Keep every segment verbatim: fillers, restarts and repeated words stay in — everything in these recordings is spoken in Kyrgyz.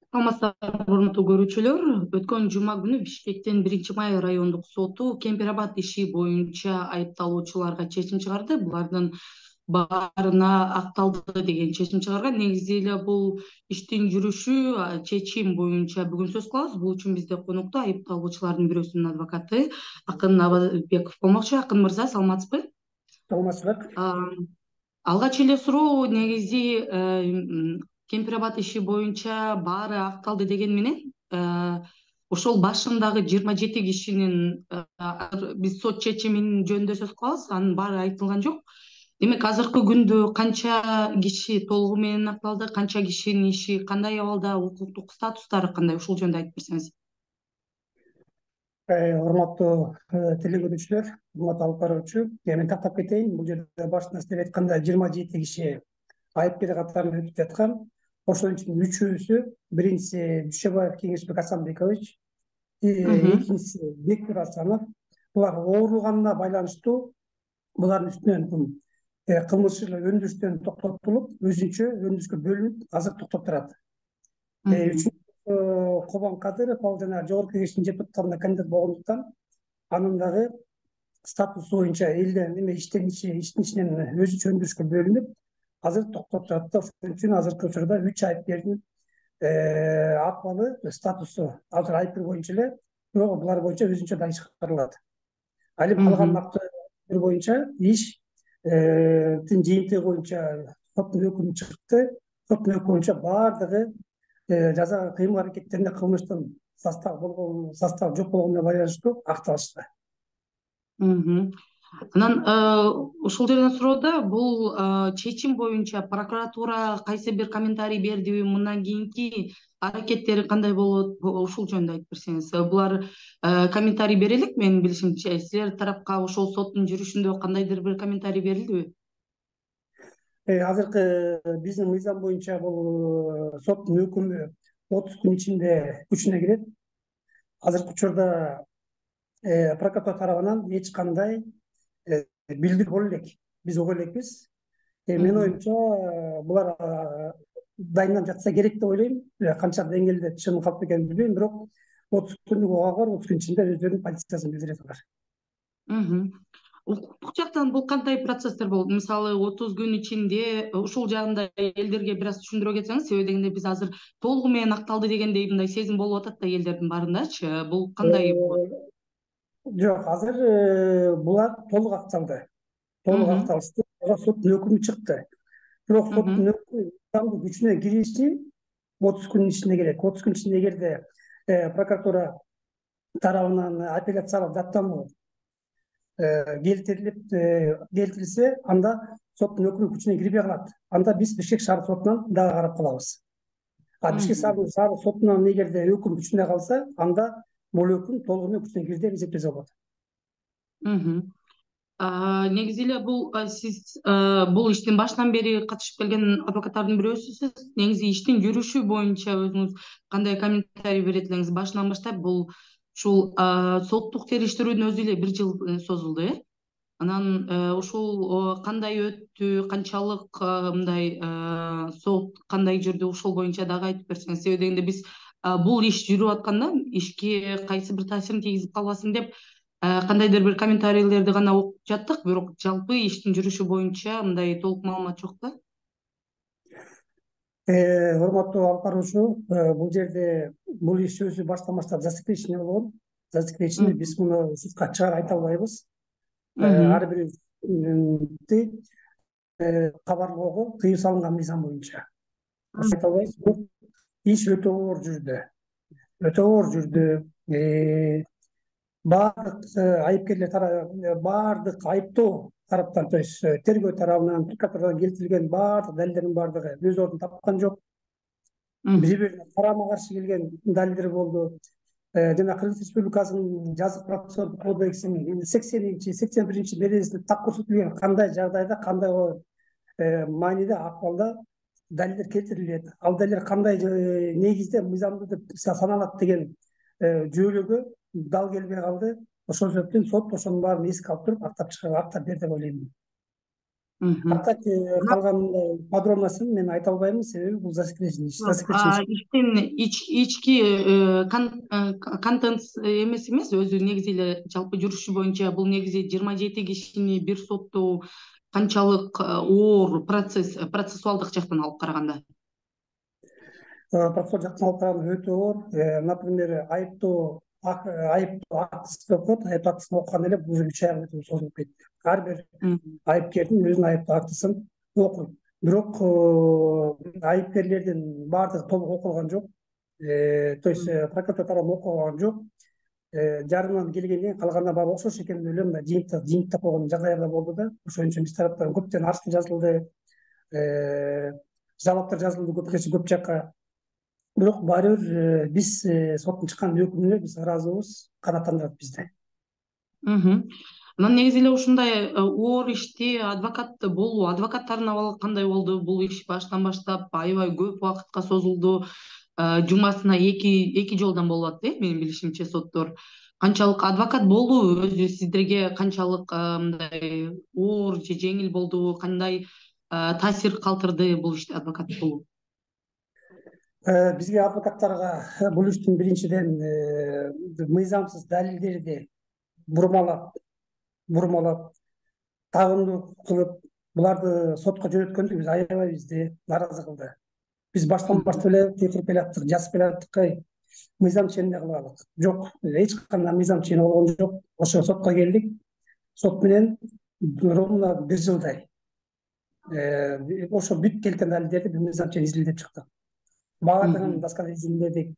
Саламатсыздарбы, урматтуу көрүүчүлөр. Өткөн жума күнү Бишкектин биринчи май райондук соту Кемпир-Абад иши боюнча айыпталуучуларга чечим чыгарды. Булардын баарына акталды деген чечим чыгарган. Негизи эле бул иштин жүрүшү чечим боюнча бүгүн сөз кылабыз. Бул үчүн бизде конокто айыпталуучулардын бирөөсүнүн адвокаты Акын Абазбеков болмокчу. Акын мырза, саламатсызбы? Саламатсызбы. Алгач эле суроо, негизи Кемпир-Абад иши боюнча баары акталды деген менен ошол башындагы жыйырма жети кишинин биз сот чечимин жөнүндө сөз кылабыз, анын баары айтылган жок. Демек азыркы күндө канча киши толугу менен акталды, канча кишинин иши кандай абалда, укуктук статустары кандай, ушул жөнүндө айтып берсеңиз. Урматтуу телекөрүүчүлөр, урматтуу алып баруучу, мен тактап кетейин. Бул жерде башында сиздер айткандай жыйырма жети киши айыпкер катарында өтүп жаткан. Ошонун ичинде үчөөсү, биринчиси Дүйшөбаев Кеңешбек Асанбекович, экинчиси Бекбир Асанов. Булар ооруганына байланыштуу булардын үстүнөн кылмыш өндүрүштөн токтотулуп, өзүнчө өндүрүшкө бөлүнүп, азыр токтоп турат. Үчүнчү Кобон Кадыров, ал жана Жогорку Кеңештин депутаттарына кандидат болгондуктан анын дагы статусу боюнча элден эме иштин иштин ичинен өзүнчө өндүрүшкө бөлүнүп, азыр токтоп турат да. Ошон үчүн азыркы учурда үч айыпкердин акыбалы статусу азыр айыпкер боюнча эле, бирок булар боюнча өзүнчө да иш каралат. Ал эми калган актылар боюнча иштин жыйынтыгы боюнча соттун өкүмү чыкты. Соттун өкүмү боюнча баардыгы жаза кыймыл аракеттеринде кылмыштын состав болгон состав жок болгонуна байланыштуу акталышты. Анан ушул жерден суроо, бул чечим боюнча прокуратура кайсы бир комментарий бердиби, мындан кийинки аракеттери кандай болот, ушул жөнүндө айтып берсеңиз. Булар комментарий бере элек, менин билишимче. Силер тарапка ошол соттун жүрүшүндө кандайдыр бир комментарий берилдиби? Азыркы биздин мыйзам боюнча бул соттун өкүмү отуз күн ичинде күчүнө кирет. Азыркы учурда прокуратура тарабынан эч кандай билдирүү боло элек, биз угу элекпиз. Менин оюмча булар дайындалып жатса керек деп ойлойм. Канча деңгээлде чын калп экенин билбейм, бирок отуз күндүк убагы бар, отуз күн ичинде өздөрүнүн позициясын билдирет алар. Укуктук жактан бул кандай процесстер болот? Мисалы, отуз күн ичинде ушул жагында элдерге бир аз түшүндүрө кетсеңиз, себеби дегенде биз азыр толугу менен акталды дегендей мындай сезим болуп атат да элдердин баарындачы. Бул кандай болот? Жок, азыр булар толук акталды. Толук акталышты. Соттун өкүмү чыкты. Бирок соттун өкүмү күчүнө кириши отуз күн ичинде керек. отуз күн ичинде эгерде прокуратура тарабынан апелляциялык даттануу келтирилип келтирилсе, анда соттун өкүмү күчүнө кирбей калат. Анда биз Бишкек шаар сотунан дагы карап калабыз. А Бишкек шаар сотунан эгерде өкүм күчүнө калса, анда бул өкүм толугу менен күчүнө кирди деп эсептесе болот. Негизи эле бул сиз бул иштин башынан бери катышып келген адвокаттардын бирөөсүсүз. Негизи иштин жүрүшү боюнча өзүңүз кандай комментарий берет элеңиз? Башынан баштап бул ушул соттук териштирүүнүн өзү эле бир жыл созулду, э? Анан ушул кандай өттү, канчалык мындай сот кандай жүрдү, ушул боюнча дагы айтып берсеңиз. Себеби дегенде биз бул иш жүрүп атканда ишке кайсы бир таасирин тийгизип калбасын деп кандайдыр бир комментарийлерди гана окуп жаттык, бирок жалпы иштин жүрүшү боюнча мындай толук маалымат жок да. Урматтуу алып баруучу, бул жерде бул иш өзү баштан баштап засекреченный болгон. Засекреченный, биз муну сутка чыгара айта албайбыз. Ар бирибизди кабарлоого тыюу салынган мыйзам боюнча. Айта албайбыз. Иш өтө оор жүрдү. Өтө оор жүрдү. Баардык айыпкерлер баардык айыптоо тараптан, то есть тергөө тарабынан, прокуратурадан келтирилген баардык далилдердин баардыгы өз ордун тапкан жок. Бири бирине карама каршы келген далилдер болду. Жана Кыргыз Республикасынын жазык процессуалдык кодексинин сексенинчи, сексен биринчи беренесинде так көрсөтүлгөн кандай жагдайда, кандай мааниде, акыбалда далилдер келтирилет. Ал далилдер кандай негизде мыйзамдуу деп саналат деген жүйөлөгө дал келбей калды. Ошол себептен сот ошонун баарын эске алып туруп актап чыгып актап берди деп ойлойм. Мгм. А так Анан калган подробностун мен айта албайм, себеби бул засекреченный иш. Засекреченный иш. иштин ички э, кон- э, контент эмеси эмес, өзү негизи эле жалпы жүрүшү боюнча бул негизи жыйырма жети кишини бир соттоо канчалык э, оор процесс процессуалдык жактан алып караганда. Процессуал жактан алып караганда өтө оор. Э, Например, айыптоо ак- айыптоо актысын окуп, айыптоо актысын окуганда эле бул уже үч ай өтүп созулуп кетти. Ар бир Мгм. айыпкердин өзүнүн айыптоо актысын окуйт. Бирок э, айыпкерлердин баардыгы толук окулган жок. Э, То есть э, прокуратура тарабынан окулган жок. Э, Жарымынан келгенден кийин калганына баары окшош экен деп ойлойм. Мына жыйынтык жыйынтыктап койгон жагдайлар да болду да. Ошон үчүн биз тараптан көптөн арыз жазылды, э, жалоптор жазылды көп көп жакка. Бирок баары бир э, биз э, соттун чыккан өкүмүнө биз ыраазыбыз, канааттандырат бизди. Мгм. Анан негизи эле ушундай э, оор ишти адвокат болуу, адвокаттардын абалы кандай болду? Бул иш баштан баштап аябай көп убакытка созулду. Э, Жумасына эки эки жолдон болуп атты, э, менин билишимче соттор. Канчалык адвокат болуу өзү сиздерге канчалык э, мындай оор же жеңил болду? Кандай э, таасир калтырды бул иште адвокат болуу? Э, Бизге адвокаттарга э, бул иштин биринчиден э, мыйзамсыз далилдерди бурмалап, бурмалап, тагымдуу кылып, буларды сотко жөнөткөндө биз аябай бизди нааразы кылды. Биз баштан Мгм. баштап эле текшерип келаттык, жазып келаттык, ай, мыйзам ченинде кылалык. Жок, эч кандай мыйзам чени болгон жок. Ошо сотко келдик. Сот менен ровно бир жылдай э, ошо бүт келген далилдерди биз мыйзам чен изилдеп чыктык. Баардыгын Мгм. досконально изилдедик.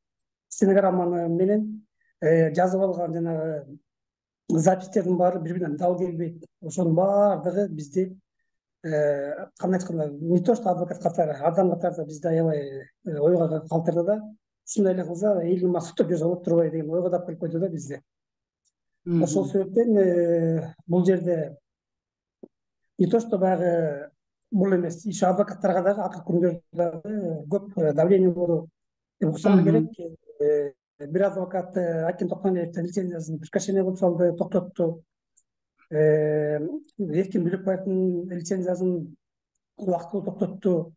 Стенограмманы менен э, жазып алган жанагы записьтердин баары бири биринен дал келбейт. Ошонун баардыгы бизди э, кандай айтканда, не то что адвокат катары, адам катары да бизди аябай э, ойго калтырды да. Ушундай эле кылса элдин максаттуу жүрсө болот турбайбы деген ойго да алып койду да бизди. Ошол Мгм. себептен э, бул жерде не то что баягы бул эмес, иш адвокаттарга дагы акыркы күндөрдө дагы көп э, давление болду деп уксаңар Мгм. керек. Э, Бир адвокат э, Аким Токмамбетовдин лицензиясын прекращение кылып салды, токтотту. Э, Эркин Бөлөкбаевдин лицензиясын убактылуу токтотту.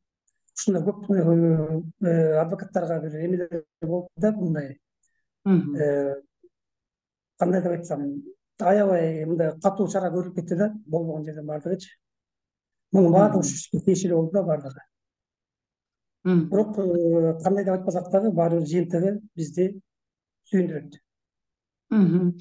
Ушундай көп э, э, адвокаттарга бир эмелер болду да, мындай Мгм. э, кандай деп айтсам, аябай мындай катуу чара көрүлүп кетти да, болбогон жерден баардыгычы. Мунун баардыгы ушу Мгм. ишке тиешелүү болду да баардыгы. Мгм. Бирок э, кандай деп айтпасак дагы баары бир жыйынтыгы бизди сүйүндүрөт. Мгм.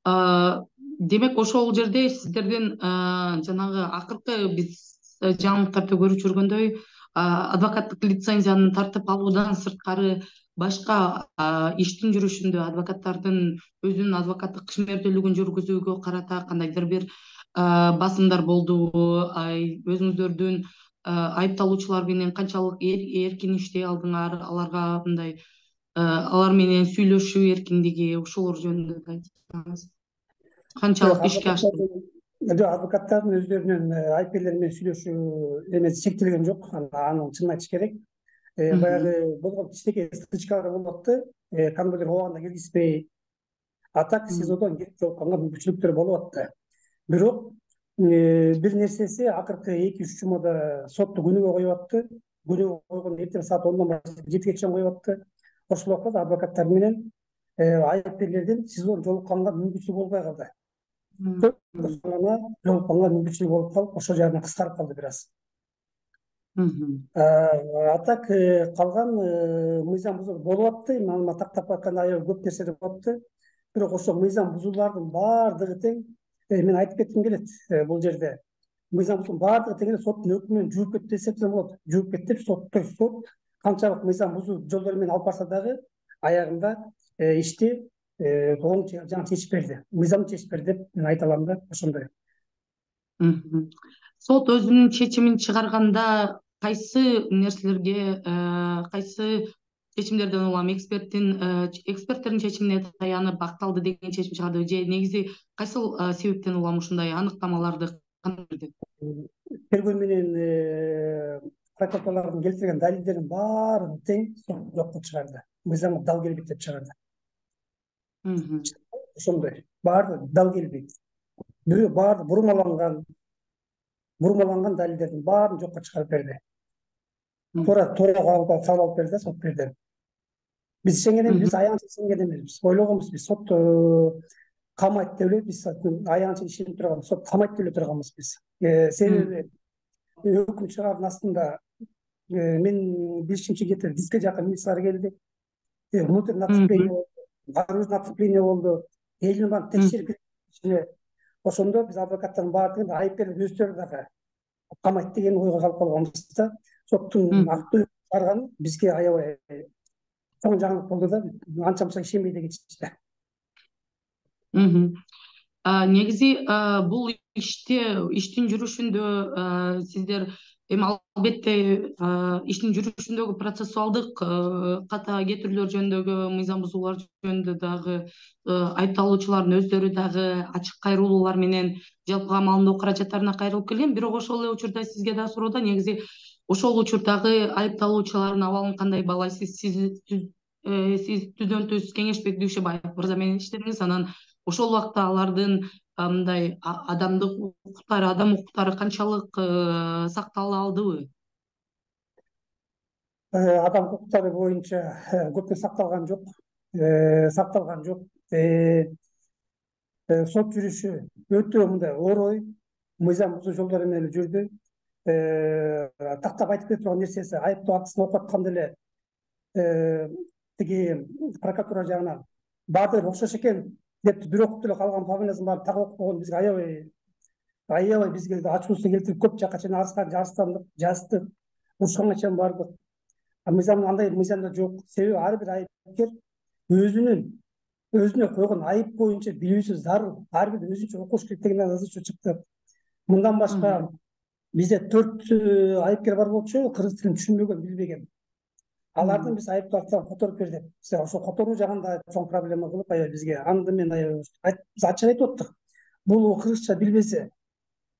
А, демек ошол жерде сиздердин а, жанагы акыркы биз э, жаңылыктарда көрүп жүргөндөй а, адвокаттык лицензияны тартып алуудан сырткары башка а, иштин жүрүшүндө адвокаттардын өзүнүн адвокаттык ишмердүүлүгүн жүргүзүүгө карата кандайдыр бир а, басымдар болдубу? Ай, өзүңүздөрдүн а, айыпталуучулар менен канчалык эр- эркин иштей алдыңар, аларга мындай а, алар менен сүйлөшүү эркиндиги, ошолор жөнүндө да айтсаңыз. Жок, Канчалык ишке ашты? адвокаттардын жок, адвокаттардын өздөрүнүн э, айыпкерлер менен сүйлөшүү эмеси чектелген жок. Анын чынын айтыш керек. Э, Мгм. Баягы болгон кичинекей стычкалар болуп атты. Э, Кандайдыр убагында келгизбей, а так Мгм. СИЗОдон кетип жолукканга мүмкүнчүлүктөр болуп атты. Бирок э, бир нерсеси акыркы эки үч жумада сотто күнүгө коюп атты. Күнүгө койгон эртең саат ондон баштап жетиге чейин коюп атты. Ошол убакта адвокаттар менен э, айыпкерлердин СИЗОдон жолукканга мүмкүнчүлүгү болбой калды. Мгм. Ошондо жолукканга мүмкүнчүлүгү болуп калып, ошол жагынан кыскарып калды бир аз. Мгм. А так э, калган э, мыйзам бузуу болуп атты. Мына тактап айтканда аябай көп нерселер болуп атты. Бирок ошол мыйзам бузуулардын баардыгы тең, э, мен айтып кетким келет э, бул жерде. Мыйзам бузуунун баардыгы тең эле соттун өкүмү менен жууп кетти десек да болот. Жууп кетти деп сот, то есть сот канчалык мыйзам бузуу жолдор менен алып барса дагы аягында э, ишти э, оң жаңы чечип берди. Мыйзам чечип берди деп мен айта алам да, ошондой. Мгм. Сот өзүнүн чечимин чыгарганда кайсы нерселерге, э, кайсы чечимдерден улам эксперттин э, ч- эксперттердин чечимине таянып акталды деген чечим чыгарды же негизи кайсыл э, себептен улам ушундай аныктамаларды кантип берди? Тергөө менен э, прокуратуралардын келтирген далилдердин баарын тең сот жокко чыгарды. Мыйзамга дал келбейт деп чыгарды. Мгм. Ошондой. Баары дал келбейт. Бирөө баары бурмаланган, бурмаланган далилдердин баарын жокко чыгарып берди. Туура туура кабыл алып берди да сот берди. Биз ишенген эмес, биз аягынча ишенген эмеспиз. Ойлогонбуз биз сот камайт деп эле, биз аягынча ишенип турган, сот камайт деп эле турганбыз биз. Себеби өкүм чыгаруунун астында мен билишимче где-то диске жакын милициялар келди. Внутреннее отцепление болду, наружное отцепление болду. Элдин баарын текшерип ичине. Ошондо биз адвокаттардын баардыгын айыпкерлер өздөрү дагы камайт деген ойго калып калганбыз да. Соттун актуу чыгарганы бизге аябай чоң жаңылык болду да, анча мынча ишенбей да кетишти. Негизи бул иште иштин жүрүшүндө сиздер эми албетте иштин жүрүшүндөгү процессуалдык ката кетирүүлөр жөнүндөгү мыйзам бузуулар жөнүндө дагы айыпталуучулардын өздөрү дагы ачык кайрылуулар менен жалпы камалдоо каражаттарына кайрылып келген. Бирок ошол эле учурда сизге да суроодо негизи ошол учурдагы айыпталуучулардын абалын кандай баалайсыз? Сиз сиз түздөн түз Кеңешбек Дүйшөбаев мырза менен иштедиңиз, анан ошол убакта алардын мындай адамдык укуктары, адам укуктары канчалык сактала алдыбы? Адам укуктары боюнча көптөн сакталган жок. Сакталган жок. Сот жүрүшү өтө мындай орой, мыйзам бузуу жолдору менен жүрдү. Тактап айтып бере турган нерсеси, айыптоо актысын окуп атканда эле тиги прокуратура жагынан баардыгы окшош экен деп бир окуп деле калган фамилиясын баарын так окуп койгон бизге аябай аябай бизге ачуусу келтирип көп жакка чейин арыстандык, жаздык, урушканга чейин бардык. Мыйзам андай мыйзамда жок. Себеби ар бир айыпкер өзүнүн өзүнө койгон айып боюнча билүүсү зарыл. Ар бир өзүнчө окуш керек деген жазуу чыкты. Мындан башка бизде төрт айыпкер бар болчу, кыргыз тилин түшүнбөгөн, билбеген. Алардын биз айыптоо актын которуп бердик. Ошо которуу жагында чоң проблема кылып аябай бизге. Анда мен биз ачык айтып аттык. Бул кыргызча билбесе,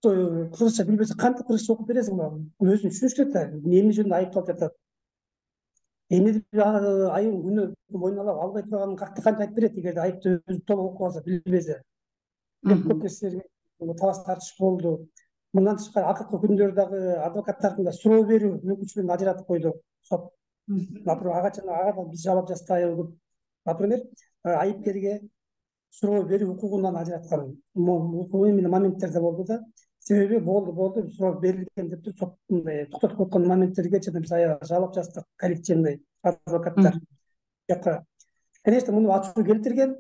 кыргызча билбесе кантип кыргызча окуп бересиң буга? Өзүн түшүнүш керек да, эмне жөнүндө айыпталып жатат. Эмне айыл күнөө мойнуна алып албай турганын кантип айтып берет эгерде айыпты өзү толук окуп алса, билбесе. Көп нерселерге талаш тартыш болду. Мындан тышкары акыркы күндөрү дагы адвокаттардын да суроо берүү мүмкүнчүлүгүн ажыратып койду сот. Например, ага ага биз жабап жазбайбыз. Например, айыпкерге суроо берүү укугунан ажыраткан именно моменттерде болду да. Себеби болду болду суроо берилген деп туруп сот мындай токтотуп койгон моменттерге чейин биз аябай жабап жаздык, коллективный адвокаттар. Жакка. Конечно, муну ачуу келтирген.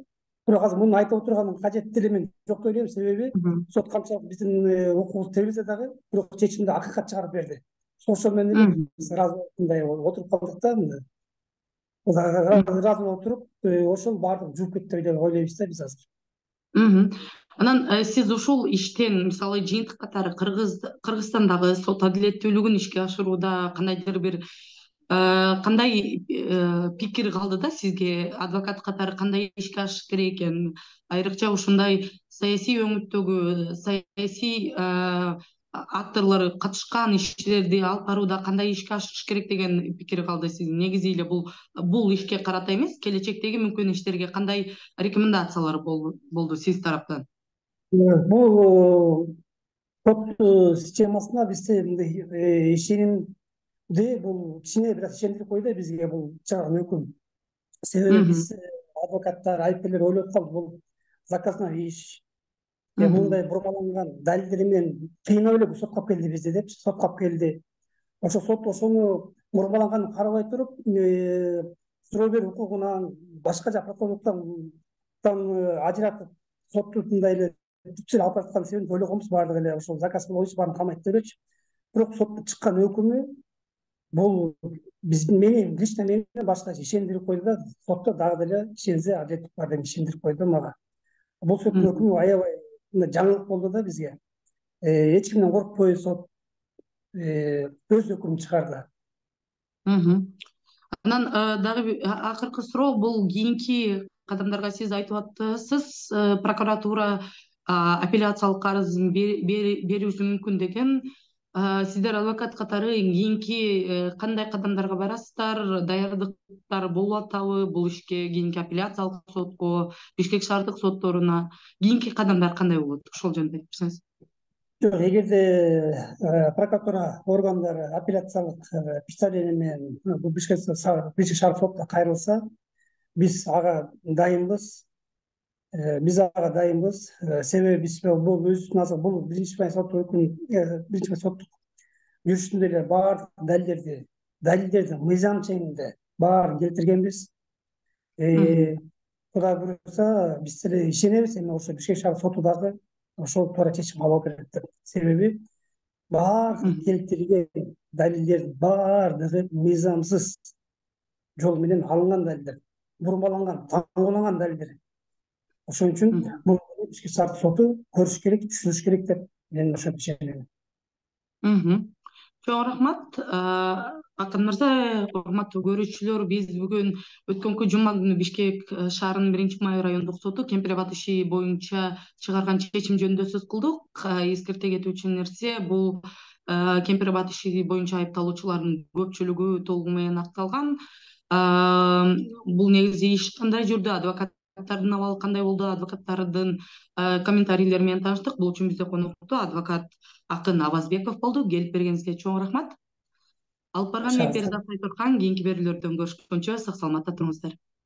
Бирок азыр муну айтып отурганын кажети деле мен жок деп ойлойм, себеби сот канчалык биздин укугубузду тебилсе дагы, бирок чечимди акыйкат чыгарып берди. Ошол менен эле биз ыраазы мындай отуруп калдык да, мындай. Ыраазы болуп туруп, ошол баардыгы жууп кетти деп ойлойбуз да биз азыр. Анан сиз ушул иштен мисалы жыйынтык катары Кыргыз Кыргызстандагы сот адилеттүүлүгүн ишке ашырууда кандайдыр бир кандай пикир калды да сизге? Адвокат катары кандай ишке ашыш керек экен? Айрыкча ушундай саясий өңүттөгү саясий акторлор катышкан иштерди алып барууда кандай ишке ашыш керек деген пикир калды сиздин? Негизи эле бул бул ишке карата эмес, келечектеги мүмкүн иштерге кандай рекомендациялар болду сиз тараптан? Бул сот системасына бизде мындай ишенимди бул кичине бир аз ишендирип койду бизге бул чыгарган өкүм. Себеби биз адвокаттар, айыпкерлер ойлоп калдык, бул заказной иш. Мындай бурмаланган далилдер менен кыйнап эле сотко алып келди бизди деп, сотко алып келди. Ошо сот ошону бурмаланганын карабай туруп, суроо берүү укугунан, башка жак прокурорлуктан ажыратып, сотту мындай эле түпсүз алып бараткан себебин ойлогонбуз баардыгы эле ошол заказ боюнча баарын камайт деп элечи. Бирок соттун чыккан өкүмү бул биздин мени лично мени башкача ишендирип койду да, сотто дагы деле ишенсе адилеттик бар деп ишендирип койду мага. Бул соттун өкүмү аябай жаңылык болду да бизге. Эч кимден коркпой сот өз өкүмүн чыгарды. Анан дагы акыркы суроо, бул кийинки кадамдарга сиз айтып атасыз, прокуратура апелляциялык арызын берүүсү мүмкүн деген. Сиздер адвокат катары кийинки кандай кадамдарга барасыздар? Даярдыктар болуп атабы бул ишке, кийинки апелляциялык сотко, Бишкек шаардык сотторуна кийинки кадамдар кандай болот? Ошол жөнүндө айтып берсеңиз. жок, эгерде прокуратура органдары апелляциялык представление менен бул бишкек шаар сотуна кайрылса, биз ага дайынбыз. Биз ага дайынбыз. Себеби биз бул өзүбүздүн бул биринчи май соттук биринчи май соттук жүрүшүндө эле баардык далилдерди далилдерди мыйзам чегинде баарын келтиргенбиз. Кудай буюрса, биз деле ишенебиз, эми ошо Бишкек шаар соту дагы ошол туура чечим алуу керек деп. Себеби баардык келтирген далилдердин баардыгы мыйзамсыз жол менен алынган далилдер, бурмаланган, таңууланган далилдер. Ошон үчүн бул Бишкек шаардык соту көрүш керек, түшүнүш керек деп мен ошентип ишенем. Чоң рахмат. Акын мырза, урматтуу көрүүчүлөр, биз бүгүн өткөнкү жума күнү Бишкек шаарынын биринчи май райондук соту Кемпир Абад иши боюнча чыгарган чечим жөнүндө сөз кылдык. Эскерте кетүүчү нерсе, бул Кемпир Абад иши боюнча айыпталуучулардын көпчүлүгү толугу менен акталган. Бул негизи иш кандай жүрдү, адвокаттардын абалы кандай болду, адвокаттардын комментарийлери менен тааныштык. Бул үчүн бизде конокто адвокат Акын Абазбеков болду. Келип бергениңизге чоң рахмат. Алып барган мен Перизат Сайторкан, кийинки берүүлөрдөн көрүшкөнчө сак саламатта туруңуздар.